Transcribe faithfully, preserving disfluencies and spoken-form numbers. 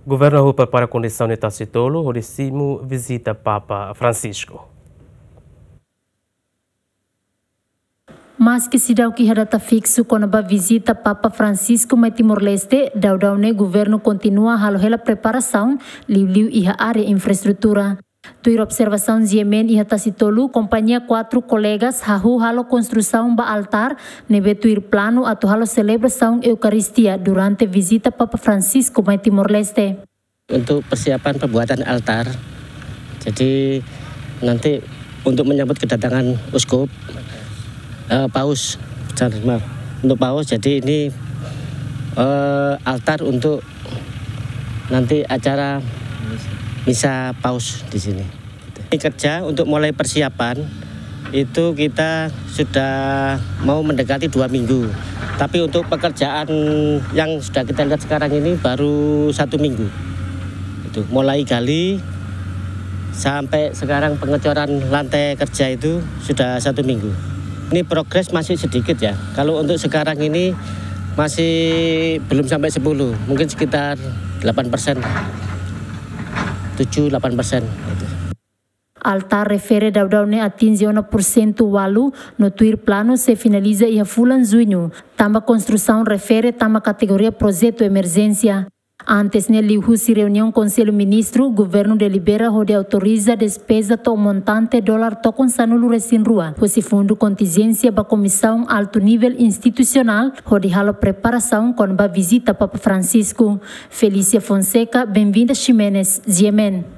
Governu hahú prepara kondisaun iha Tasitolu hodi simu vizita Papa Francisco. Maski seidauk iha data fiksu kona-ba vizita Papa Francisco mai Timor-Leste, daudaun ne'e governu kontinua halo hela preparasaun, liuliu iha área infraestrutura. Tuir observasaun G M N iha Tasitolu, kompañia Quatro Colegas hahú halo konstrusaun ba altár ne'ebé tuir planu atu halo selebrasaun Eukaristia durante vizita Papa Francisco mai Timor-Leste. Untuk persiapan pembuatan altar, jadi nanti untuk menyambut kedatangan uskup, eh, paus, maaf, untuk paus, jadi ini, eh, altar untuk nanti acara misa paus di sini. Ini kerja untuk mulai persiapan itu kita sudah mau mendekati dua minggu. Tapi untuk pekerjaan yang sudah kita lihat sekarang ini baru satu minggu. Itu mulai gali sampai sekarang pengecoran lantai kerja itu sudah satu minggu. Ini progres masih sedikit ya. Kalau untuk sekarang ini masih belum sampai sepuluh, mungkin sekitar delapan persen, tujuh delapan persen. Altár refere daudaun ne'e atinje ona pursentu ualu, no tuir planu sei finaliza iha fulan Juñu, tanba konstrusaun refere tama kategoria projetu emerjénsia. Antes ne'e, liuhusi reuniaun Konsellu Ministru, governu delibera hodi autoriza despeza to'o montante dolar tokon sanulu-resin-rua husi fundu kontinjénsia ba Komisaun Altu Nivel Institusionál hodi halo preparasaun kona-ba vizita Papa Francisco. Felícia Fonseca, Benvinda Ximenes, G M N.